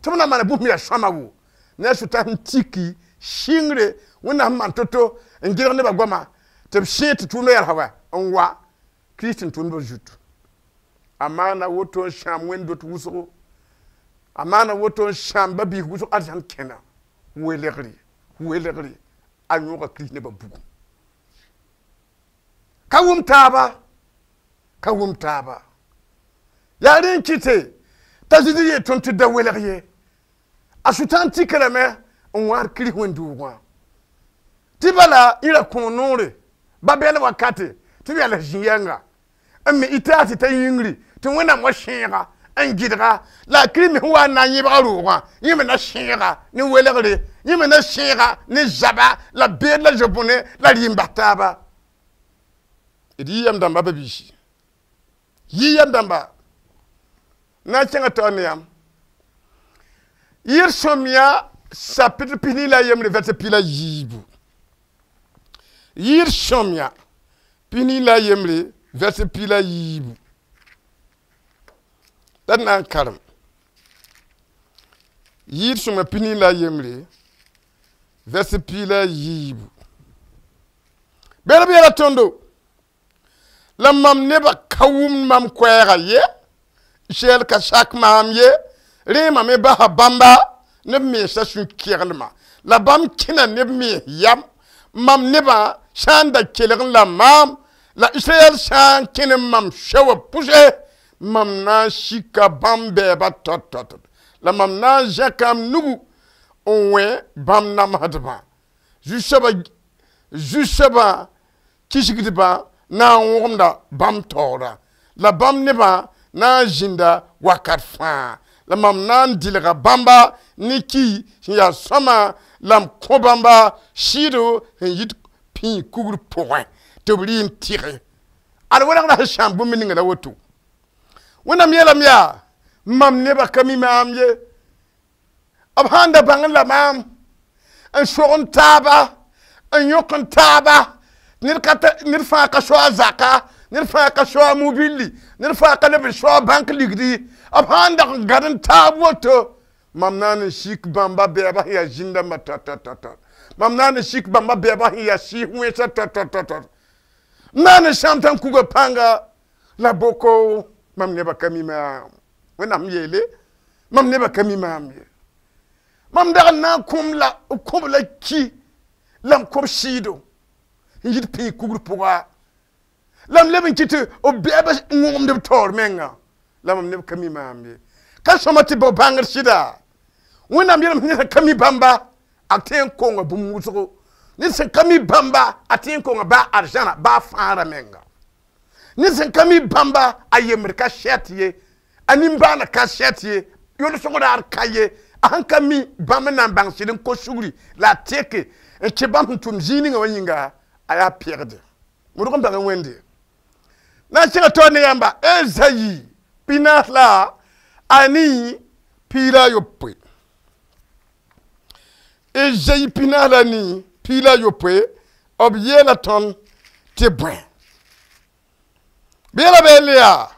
tɩ b na maana bũmb yaa sõama wo ne a Sʋtã sẽn tiki sɩngre Wẽnnaam sẽn maan to-to n gẽdg nebã goama tɩ b sẽeg tɩ tʋʋmdã yɛlsa wa n wa Kirist n tʋʋmdbã zutu a maana woto n sãam wẽnd-dot wʋsgo a maana woto n sãam ba-biis wʋsg arzãn kẽna welgre welgre a yõoga Kirist nebã bugum ka wʋm taaba ka wʋm taaba yaa rẽ n kɩte t'a Zezi yeel tõnd tɩ da welg ye a Sʋtãan tika lame n wãad Kirist wẽnd-doogã tɩ bala yẽ ra kõo noore ba-bɛl wakate tɩ b yals zĩ-yɛnga n me ɩta tɩ ta yĩngri tɩ Wẽnnaam wa sẽega n gɩdga la a Kirist me sẽn wa n na n yẽbga roogã yẽ me na sẽega ne welgre yẽ me na sẽega ne zaba la beed la zob-bõne la rɩɩm bas taaba d yɩ yam dãmba ba-biisi yɩ yam dãmba na n kẽngã taoor ne yãmb yɩɩr sõmyã chapitre 23 verset 14 yɩɩr sõmyã 21 verset 14 la d na n karem yɩɩr sõmyã 21 verset 14 bel b yeela tõndo la mam nebã ka wʋmd mam koɛɛga ye Israɛl ka sak maam ye rẽema me basa bãmba neb mensã sũ-keglmã la bãmb kẽna neb mens yam mam nebã sã n da kelg n la maam la Israɛl sã n kẽne mam soabã pʋse mam na n sika bãmb bɛɛba tɔt-tɔt la mam na n zẽka m nugu n wẽ bãmb namsdbã zu-soabã kisgdbã na n wõgemda bãmb taoora la bãmb nebã na n zĩnda wakat fãa la mam na n dɩlga bãmba ne ki sẽn yaa sõama la m kõ bãmba sɩɩdo sẽn yit pĩig kugr pʋgẽ tɩ b rɩ n tɩge ad welgrã sẽn sãam bũmb ninga la woto Wẽnnaam yeelame yaa mam nebã ka mi maam ye b sã n da bãng la maam n sog n taaba n yõk n taaba ned fãa ka soa a zaka ned fãa ka soa a mobilli ned fãa ka leb n soa bãnk ligdi b sã n dag n gãd n taab woto mam na n sik bãmba bɛɛba sẽn yaa zĩn-dãmbã tɔt-tɔt-tɔt mam na n sik bãmba bɛɛba sẽn yaa sɩɩs wẽnsã tɔt-tɔt-tɔt m na n sãam tã n kuga pãnga la boko mam nebã ka mi maam Wẽnnaam yeele mam nebã ka mi maam ye mam dag n na n kõm la b kõb la ki la m kõb sɩɩdo n yit pĩig kugr pʋga la m leb n kɩ tɩ b bɛɛba n wõgemd b taoor menga la mam neb ka mi maam ye ka sõma tɩ bao bãngr sɩda Wẽnnaam yeelame tɩ ned sẽn ka mi bãmba a tõe n konga bũmb wʋsgo ned sẽn ka mi bãmba a tõe n konga baa arzãna baa fãagrã menga ned sẽn ka mi bãmba a yembd ka sɛt ye a nimbãaneg ka sɛt ye Yʋlsg raar ka ye a sẽn ka mi bãmb n na n bãng sɩd n kos sugri la a teke n kẽ bãmb sẽn tʋm zĩig ninga wã yĩnga a yaa pɛgde modg n bãng wẽnde na n kẽngã taoor ne yãmba Ezayi 45 la 21. Ezayi 45 la 21 b yeela tõnd tɩ bõe bɩ yeela be yaa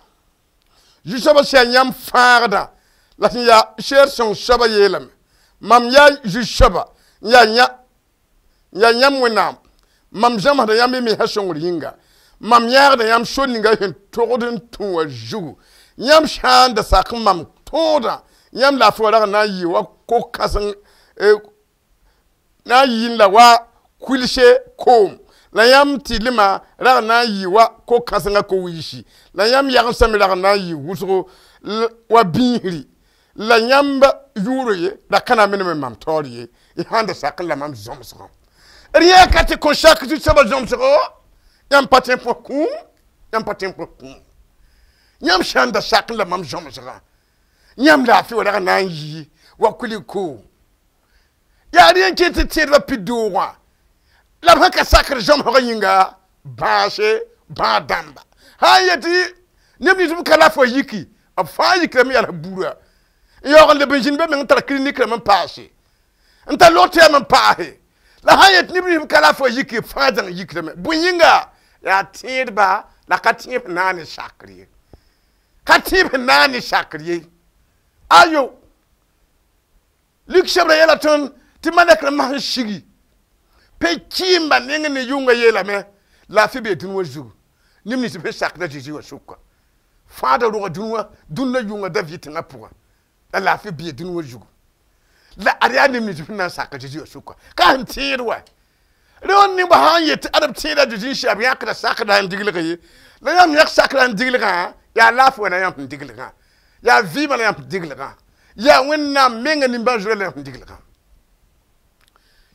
zu-soabã sẽn yaa yãmb fãagdã la sẽn yaa seer sõng soabã yeelame mam yaa zu-soaba n yaa yãmb Wẽnnaam mam zãmsda yãmb y mensã sõngr yĩnga mam yãagda yãmb sor ninga sẽn togd n tũ wã zugu yãmb sã n da sak mam tõodã yãmb laafɩ wã rag n na n yɩ wa ko-kãseng na n yɩɩn la wa kulse koom la yãmb tɩlmã rag n na n yɩ wa ko-kãsengã ko-wiisi la yãmb yagensã me rag n na n yɩ wʋsgo wa bĩisri la yãmb yʋʋr ye la ka na n menem mam taoor ye y sãn da sak n la mam zõmsgã d yã ka tɩ kõn sak zu-soabã zõmsgo yãmb pa tõe n põs kũum yãmb pa tõe n põs kũum yãmb sã n da sak n la mam zõmsgã yãmb laafɩ wã rag n na n yɩ wa kulig koom yaa rẽ n ket tɩ tẽedbã pid doogã la b sẽn ka sakr zõmsgã yĩnga bãase bãag dãmba sã n yetɩ neb nins b ka laaf wã yiki b fãa yikrame yaa buurã n yaoog n leb n zĩnd be meng n tar clinique rãmb n paase n tar log tɩyam n paase la sã n yet neb nins b ka laaf wã yiki b fãa zãng yikrame bõe yĩnga yaa tẽedba la ka tẽeb sẽn na n ne sakr ye ka tẽeb sẽn na n ne sakr ye ayo Luk sebra yeela tõnd tɩ malɛk rãmbã sẽn sigi pe-kɩɩmbã neng ne yʋnga yeelame laafɩ bee dũni wã zugu neb nins b sẽn sakda Zeezi wã sʋka fãada rogã dũni wã dũnna yʋnga da vɩ tẽngã pʋgã la laafɩ bee dũni wã zugu la ad yaa neb nins b sẽn na n sak a Zeezi wã sʋka ka sẽn tẽed wa rẽ nebã sã n yet ad b tẽeda Zeezi n sɩ b yãkda sakda n diglg ye la yãmb yãk sakra n diglgã yaa laafɩ wã na yãmb sẽn diglgã yaa vɩɩmã la yãmb sẽn diglgã yaa Wẽnnaam menga nimbãan-zoeer la yãmb sẽn diglgã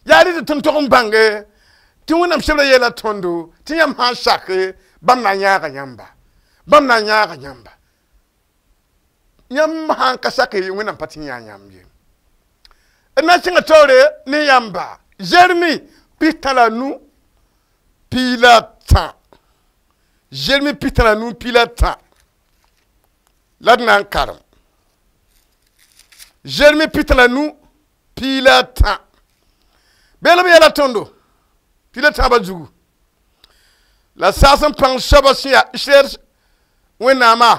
yaa rɩ tɩ tõnd tog n bãnge tɩ Wẽnnaam sebra yeela tõndo tɩ yãmb sã n sake bãmb na n yãaga yãmba bãmb na n yãaga yãmba yãmb sã n ka sake Wẽnnaam pa tɩ n yãag yãmb ye d na n kẽngã taoore ne yãmba Zeremi 15 13 Zeremi 15 13 la d na n karem Zeremi 15 13 beel b yeela tõndo 13 zugu la saas n pãng soabã sẽn yaa Israɛl Wẽnnaamã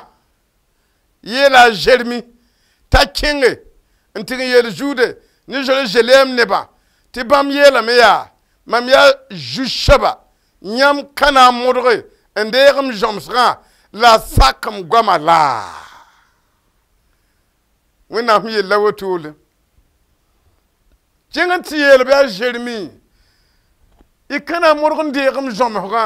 yeela a Zeremi t'a kẽnge n tɩg n yeel Zude ne Zerizalɛɛm nebã tɩ bãmb yeelame yaa mam yaa zu-soaba yãmb ka na n modge n deeg m zõmsgã la sak m goama laa Wẽnnaam sẽn yella wotole kẽng n tɩ yeel bɩ a Zeremi y ka na n modg n deeg m zõmsgã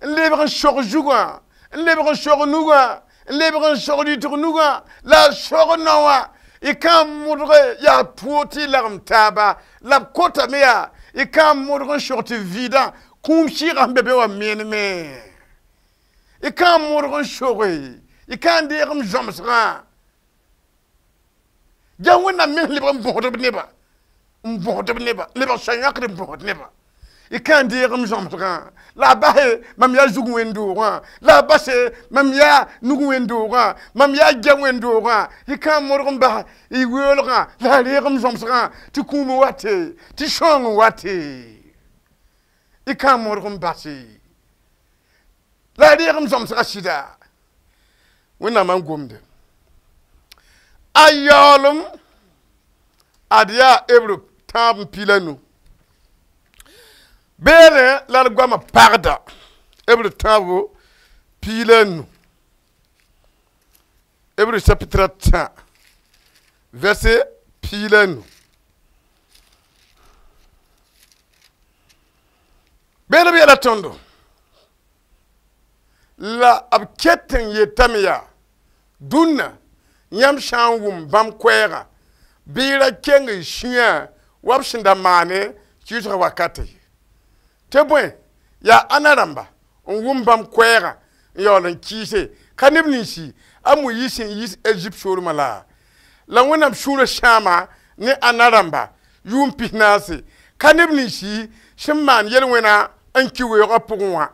n lebg n sog zugã n lebg n sog nugã n lebg n sog rɩtg nugã la a sog nao wã y ka n modge yaa pʋʋg tɩ y lagem taaba la b kotame yaa y ka n modg n sog tɩ vɩɩdã kũum sɩɩgã sẽn be be wã meneme y ka n modg n soge y ka n deeg m zõmsgã ja Wẽnnaam mens lebg n bõsd b nebã n bõsd b nebã lebg soa-yãkd n bõsd nebã y ka n deeg m zõmsgã la a base mam yaa zug wẽn-doogã la a base mam yaa nug wẽn-doogã mam yaa gɛ wẽn-doogã y ka n modg n bas y weoolgã la a reeg m zõmsgã tɩ kũum n wate tɩ sõong n wate y ka n modg n base la a reeg m zõmsgã sɩda Wẽnnaamã n gomde a yaoolem ad yaa Hebreu 3 15 beere la d goamã pagda Hebreu 3 15 Hébreu chapitre 3 verset 15 beere b yeela tõndo la b ket n yetame yaa dũnna yãmb sã n wʋm bãmb koɛɛgã bɩ y ra keng y sũyã wa b sẽn da maane kɩɩsgã wakata ye tɩ bõe yaa ãna rãmba n wʋm bãmb koɛɛgã n yaool n kɩɩse ka neb ninsi a Moyiis sẽn yiis Ezip soolmã la La wẽnnaam sũurã sãama ne ãnna rãmba yʋʋm 40 ka neb ninsi sẽn maan yel-wẽna n ki weoogã pʋgẽ wã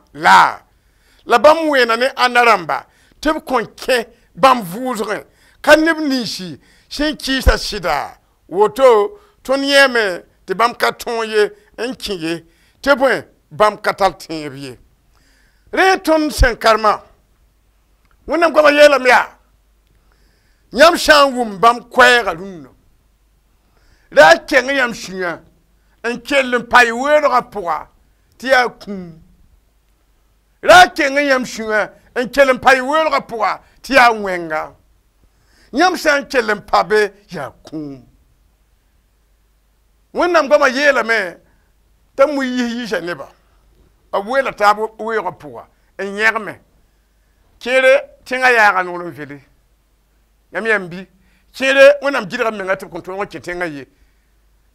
la bãmb wẽena ne ãnna rãmba tɩ b kõn kẽ bãmb vʋʋsgẽ ka neb ninsi sẽn kɩɩsa sɩda woto tõnd yẽeme tɩ bãmb ka tõog ye n kẽ ye tɩ bõe bãmb ka tar tẽeb ye rẽ tõnd sẽn karema wẽnnaam goamã yeelame yaa yãmb sã n wʋm bãmb koɛɛgã rũnnã ra a keng yãmb sũyã n kell n pa y weoodgã pʋga tɩ yaa kũum ra a keng yãmb sũyã n kell n pa y weoodgã pʋga tɩ yaa wẽnga yãmb sã n kell n pa be yaa kũum wẽnnaam goamã yeelame t'a mu yis yiisa neba b weela taab weoogã pʋga n yẽgme kẽere tẽngã yaaga noor n vele yãmb yãmb bi kẽere wẽnnaam gɩdga menga tɩ b kõn tõog n kẽ tẽngã ye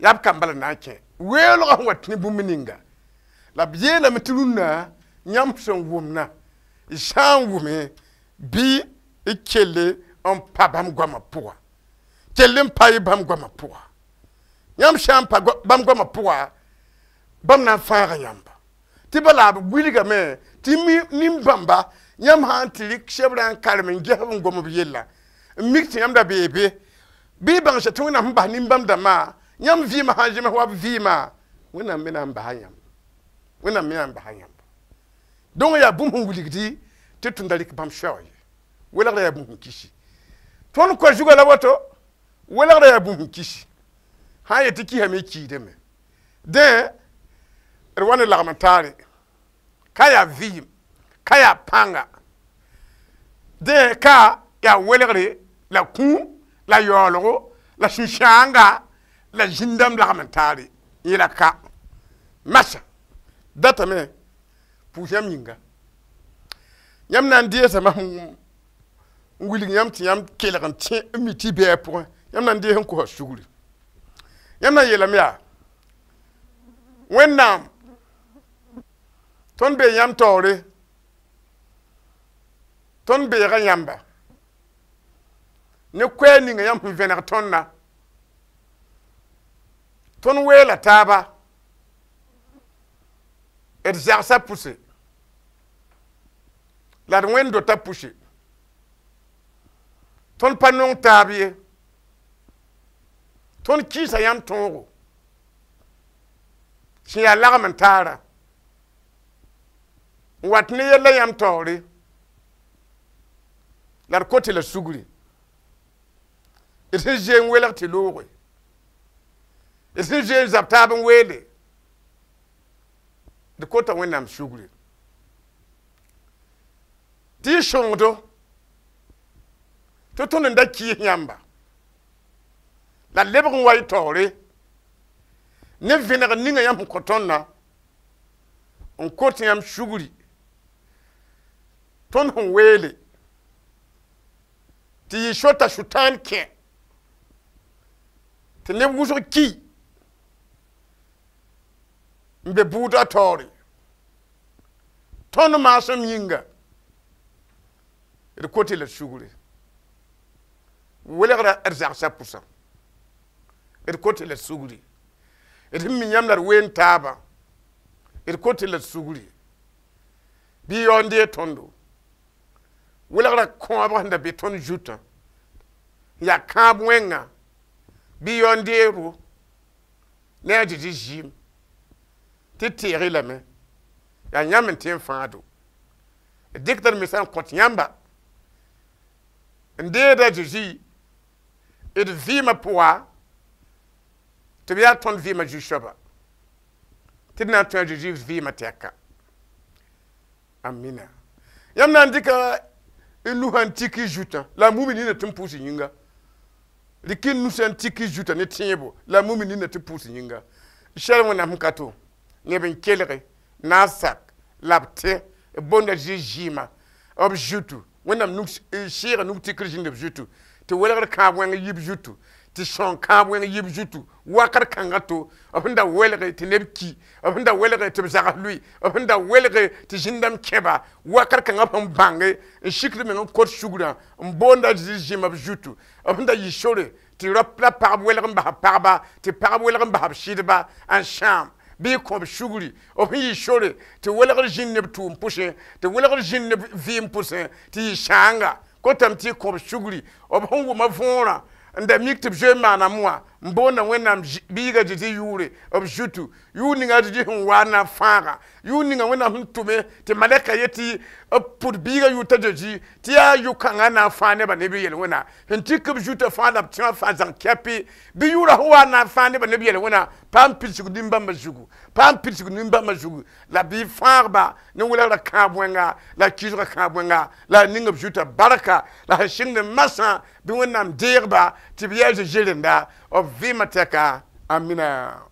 yaa b kamba la na n kẽ weoolgã sẽn wa tẽ bũmb ninga la b yeelame tɩ rũnnã yãmb sẽn wʋmna y sã n wʋme bɩ y kelle n pa bãmb goamã pʋga kell n pa y bãmb goamã pʋga yãmb sã n pa bãmb goamã pʋga bãmb na n fãaga yãmba tɩ bala b wilgame tɩ nin-bãmba yãmb sã n tɩ rɩk sebrã n karem n ges n gom b yella n mik tɩ yãmb da bee be bɩ y bãng tɩ wẽnnaam sẽn bas nin-bãmb dãmbã yãmb vɩɩmã sã n zems wa b vɩɩmã wẽnnaam me na n basa yãmb wẽnnaam me na n basa yãmb donc yaa bũmb sẽn wilgdi tɩ tõnd da rɩk bãmb soaag ye welgrã yaa bũmb sẽn kisi tõnd koa zugã la woto welgrã yaa bũmb sẽn kisi sã n yet tɩ kisame y kiidame dẽ d wa ne lagm n taare ka yaa vɩɩm ka yaa pãnga dẽ ka yaa welgre la kũum la yaoolgo la sũ-sãanga la zĩn-dãmb lagm n taare yẽla ka masa datame pʋʋs yãmb yĩnga yãmb na n deesame n wilg yãmb tɩ yãmb kelg n tẽ n mi tɩ bɩ a pʋgẽ yãmb na n dees n kosa sugri yãmb na n yeelame yaa wẽnnaam tõnd bee yãmb taoore tõnd beega yãmba ne koɛɛ ninga yãmb sẽn vẽneg tõndã tõnd weela taaba d zagsã pʋse la d wẽnd dota pʋse tõnd pa nong taab ye tõnd kɩɩsa yãmb tõogo sẽn yaa lagm n taara n wat ne yella yãmb taoore la d kot la sugri d sẽn zoe n welg tɩ looge d sẽn zoe n zab taab n weele d kota wẽnnaam sugri tɩ y sõngdo tɩ tõnd n da kɩɩs yãmba la lebg n wa y taoore ne vẽneg ninga yãmb sẽn kõ tõndã n kot yãmb sugri tõnd sẽn weele tɩ yɩ sota sʋtãan kẽ tɩ neb wʋsg ki n be bʋʋdã taoore tõnd maasem yĩnga d kot la sugri welgra d zagsã pʋsã d kot la sugri d sẽn mi yãmb la d ween taabã d kot la sugri bɩ yao n dee tõndo welgrã kõabg sẽn da be tõnd zutã yaa kãab wẽnga bɩ yao n dee ro ne a Zezi zɩɩm tɩ teeg-y lame yaa yãmb n tẽ n fãado d dɩkda d mesã n kõt yãmba n deeda Zezi d vɩɩmã pʋga tɩ b yaa tõnd vɩɩmã zu-soaba tɩ d na n tõe a Zezi vɩɩmã tɛka amina yãmb na n dɩka y nusã n tik y zutã la a mumi nina tɩ n pʋʋs yĩnga rɩk y nusã n tik y zutã ne tẽebo la a mumi nina tɩ pʋʋs yĩnga sɛl wẽnnaam sẽn ka to neb n kelge na n sak la b tẽ b boonda Zezi zɩɩmã b zutu wẽnnaam sɩɩga nug tikr zĩnd b zutu tɩ welgr kãab wẽng yib zutu tɩ sõng kãab wẽng yib zutu wakat kãngã to b sẽn da welge tɩ neb ki b sẽn da welge tɩ b zags lʋɩ b sẽn da welge tɩ zĩn-dãmb kẽba wakat kãngã b sẽn bãnge n sikd meng n kot sugrã n boonda Zezi zĩma b zutu b sẽn da yɩ sore Tɩ rap la pagb welg n bas pagba, tɩ pagb welg n bas b sɩdba n sãam bɩ y kõ b sugri b sẽn yɩ sore tɩ welgr zĩnd ne b tʋʋm pʋsẽ, tɩ welgr zĩnd ne b vɩɩm pʋsẽ, tɩ yɩ sãanga. Kotame tɩ y kõ b sugri b sẽn wʋma võorã n da mik tɩ b zoe n maaname wã n boonda Wẽnnaam biiga Zezi yʋʋre b zutu. Yʋʋr ninga a Zezi sẽn wa n na n fãaga, yʋʋr ninga Wẽnnaam sẽn tʋme tɩ malɛka yetɩ b pʋd biiga yʋʋr t'a Zezi tɩ yaa yʋ-kãngã na n fãag nebã ne b yel-wẽna sẽn tik b zutã fãa la b tẽwã fãa zãng kɛpɩ bɩ yʋʋrã sẽn wa n na n fãag nebã ne b yel-wẽna paam pidsg nin-bãmbã zugu, paam pidsg nin-bãmbã zugu la bɩ fãagba ne welgrã kãab wẽnga la kɩɩsgã kãab wẽnga la a ning b zutã barka la sẽn sɩngd masã bɩ Wẽnnaam deegba tɩ b yaa Zezi rẽnda b vɩɩmã tɛka. Amina.